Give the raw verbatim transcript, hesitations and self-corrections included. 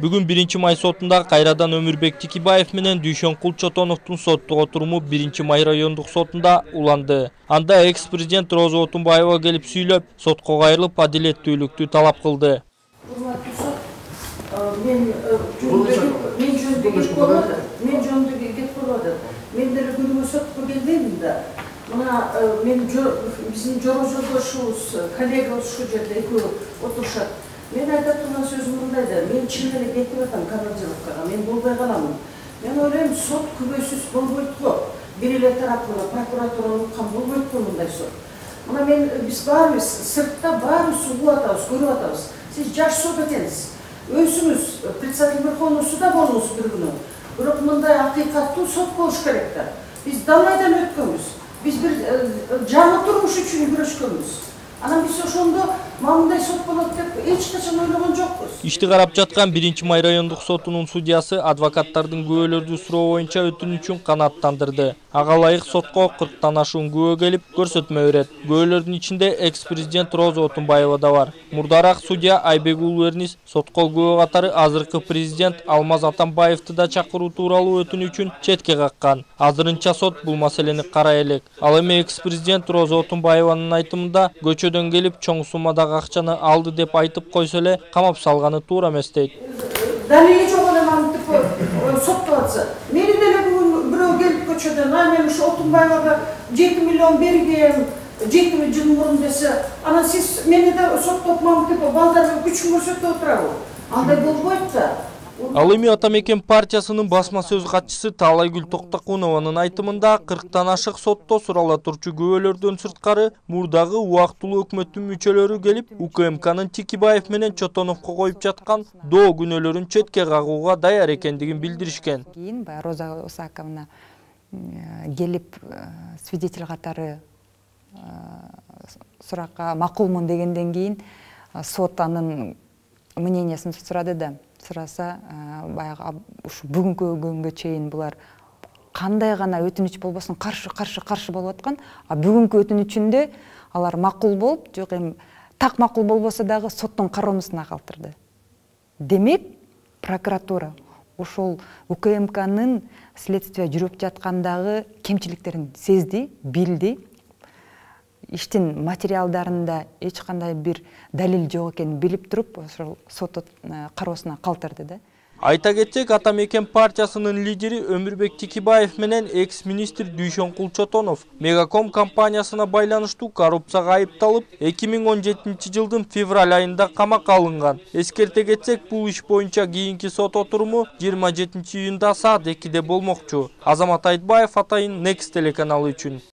Бүгүн биринчи май сотунда кайрадан Өмүрбек Тикибаев менен Дүйшөнкул Чотоновдун соттук отуруму биринчи май райондук сотунда уланды. Анда экс-президент Роза Отунбаева келип сүйлөп, сотко кайрылып адилеттүүлүктү талап кылды. Мен жөнүндөгү кеп болду. Мен деле күнүмө сотко келбеймин да. Мына мен биздин жора жолдошубуз, коллега ушул жерде экөө отурушат. Мен айтып турган сөзүм мындай да, мен чын эле кетип атам командировкага, мен болбой каламын. Мен ойлойм, сот күбөсүз болбойт го. Бир эле тарапына прокуратура уккан болбойт го мындай сот. Мына мен биз баарыбыз сыртта баарыбыз угуп атабыз, көрүп атабыз. Сиз жаш сот экенсиз. Өзүңүз председатель Верховного суда болуңуз бир күнү. Бирок мындай акыйкаттуу сот болуш керек да. Биз далайдан өткөнбүз. Биз бир жаңы турмуш үчүн күрөшкөнбүз. Анан биз ошондо мындай сот болот деп эч качан ойлогон жокпуз. Ишти карап жаткан биринчи май райондук сотунун судьясы адвокаттардын күбөлөрдү суроо боюнча өтүнүчүн канааттандырды. Ага ылайык сотко кырктан ашуун күбө келип көрсөтмө берет. Күбөлөрдүн ичинде экс-президент Роза Отунбаева да бар. Мурдараак судья Айбек Уулувернис сотко күбө катары азыркы президент Алмаз Атамбаевди да чакыруу тууралуу өтүнүчүн четке каккан. Азырынча сот бул маселени карай элек. Ал эми экс-президент Роза Отунбаеванын айтымында көчөдөн келип чоң суммадагы акчаны алды деп айтып койсо эле камап салганы туура эмес дейт. Далили жок эле мантип соттолотса. Мени деле бүгүн бирөө келип көчөдөн, а мен ушу Отунбаевага жети миллион бергем, жети жыл мурун десе, анан сиз мени да соттоп мантип балдарга күч көрсөтүп отурабы? Андай болбойт да. Ал эми Ата Мекен партиясынын басма сөз катчысы Таалайгүл Токтокунованын айтымында кырктан ашык сотто сурала турчу күбөлөрдөн сырткары мурдагы убактылуу өкмөттүн мүчөлөрү келип У К М Кнын Тикибаев менен Чотоновго коюп жаткан доо күнөөлөрүн четке кагууга даяр экендигин билдиришкен. Кийин баягы Роза Усаковна келип свидетель катары суракка макулмун дегенден кийин сот анын мнениясын сурады да. Сураса, баягы ушу бүгүнкү күнгө чейин булар кандай гана өтүнүч болбосун каршы каршы каршы болуп аткан, а бүгүнкү өтүнүчүндө алар макул болуп, жок эми так макул болбосо дагы соттун кароосуна калтырды. Демек, прокуратура ошол У К М Кнын следствие жүрүп жаткандагы кемчиликтерин сезди, билди. Иштин материалдарында эч кандай бир далил жок экенин билип туруп, ошол сот кароосуна калтырды да. Айта кетсек, Ата Мекен партиясынын лидери Өмүрбек Тикибаев менен экс-министр Дүйшөнкул Чотонов Мегаком компаниясына байланыштуу коррупцияга айыпталып, эки миң он жетинчи жылдын февраль айында камакка алынган. Эскерте кетсек, бул иш боюнча кийинки сот отуруму жыйырма жетинчи июнда саат экиде болмокчу. Азамат Айтбаев, Атайын, Next телеканалы үчүн.